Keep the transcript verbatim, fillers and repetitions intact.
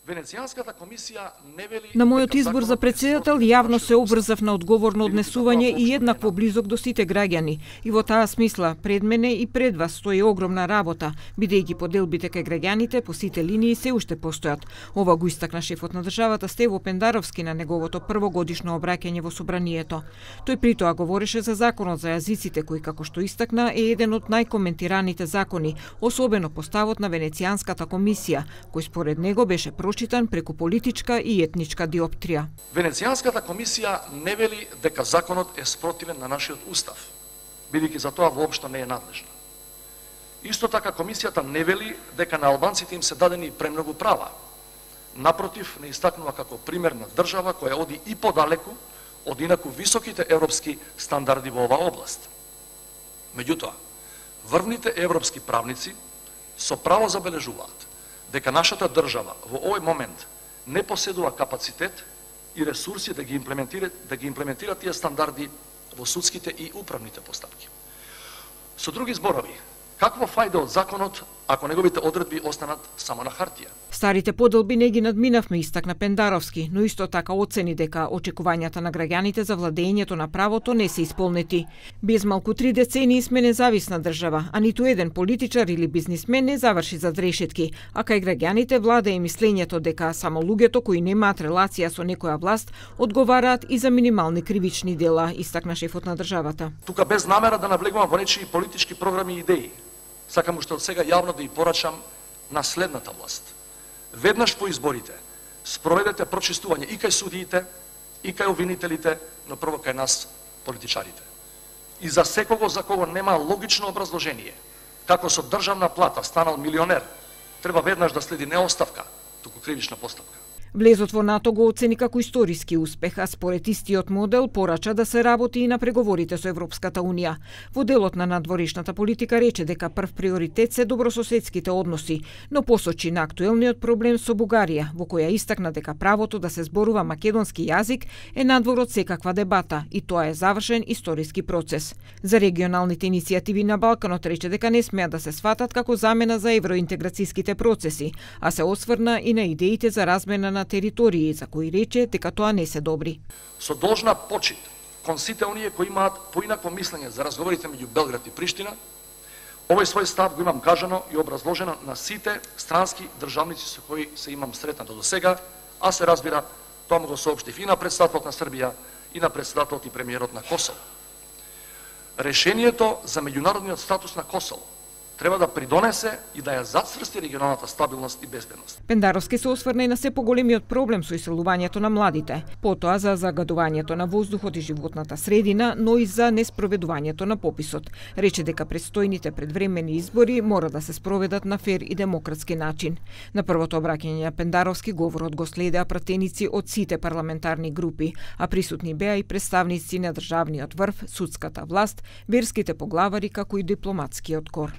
Венецијанската комисија не вели... На мојот избор за председател јавно се обрзав на одговорно однесување и еднакво близок до сите граѓани. И во таа смисла, пред мене и пред вас стои огромна работа, бидејќи поделбите кај граѓаните по сите линии се уште постојат. Ова го истакна шефот на државата Стево Пендаровски на неговото првогодишно обраќање во собранието. Тој притоа говореше за законот за јазиците, кој како што истакна е еден од најкоментираните закони, особено по ставот на Венецијанската комисија, кој според него беше прочитан преку политичка и етничка диоптрија. Венецијанската комисија не вели дека законот е спротивен на нашиот устав, бидејќи за тоа воопшто не е надлежна. Исто така комисијата не вели дека на албанците им се дадени премногу права. Напротив, не истакнува како пример на држава која оди и подалеку од инаку високите европски стандарди во оваа област. Меѓутоа, врвните европски правници со право забележуваат дека нашата држава во овој момент не поседува капацитет и ресурси да ги имплементира да ги имплементира тие стандарди во судските и управните постапки. Со други зборови, каква фајда од законот ако неговите одредби останат само на хартија? Старите поделби не ги надминавме, истакна Пендаровски, но исто така оцени дека очекувањата на граѓаните за владењето на правото не се исполнети. Без малку три децении сме независна држава, а ниту еден политичар или бизнисмен не заврши зад решетки, а кај граѓаните влада и мислењето дека само луѓето кои немаат релација со некоја власт одговараат и за минимални кривични дела, истакна шефот на државата. Тука без намера да навлегувам во нечии политички програми и идеи, сакам уште од сега јавно да ја порачам на следната власт. Веднаш по изборите спроведете прочистување и кај судиите, и кај обвинителите, но прво кај нас, политичарите. И за секого за кого нема логично образложение, како со државна плата станал милионер, треба веднаш да следи не оставка, туку кривична постапка. Влезот во НАТО го оцени како историски успех, а според истиот модел порача да се работи и на преговорите со Европската Унија. Во делот на надворешната политика рече дека прв приоритет се добрососедските односи, но посочи на актуелниот проблем со Бугарија, во која истакна дека правото да се зборува македонски јазик е надвор од секаква дебата и тоа е завршен историски процес. За регионалните иницијативи на Балканот рече дека не смеат да се сватат како замена за евроинтеграцијските процеси, а се осврна и на идеите за размена на територии, за кои рече дека тоа не се добри. Со должна почит кон сите оние кои имаат поинакво мислење за разговорите меѓу Белград и Приштина, овој свој став го имам кажано и образложено на сите странски државници со кои се имам сретнато до сега, а се разбира, тоа му го соопштив и на претседателот на Србија и на претседателот и премиерот на Косово. Решението за меѓународниот статус на Косово треба да придонесе и да ја зацврсти регионалната стабилност и безбедност. Пендаровски се осврна и на се поголемиот проблем со иселувањето на младите, потоа за загадувањето на воздухот и животната средина, но и за неспроведувањето на пописот. Рече дека предстојните предвремени избори мора да се спроведат на фер и демократски начин. На првото обраќање на Пендаровски говорот го следеа пратеници од сите парламентарни групи, а присутни беа и представници на државниот врв, судската власт, верските поглавари како и дипломатскиот кор.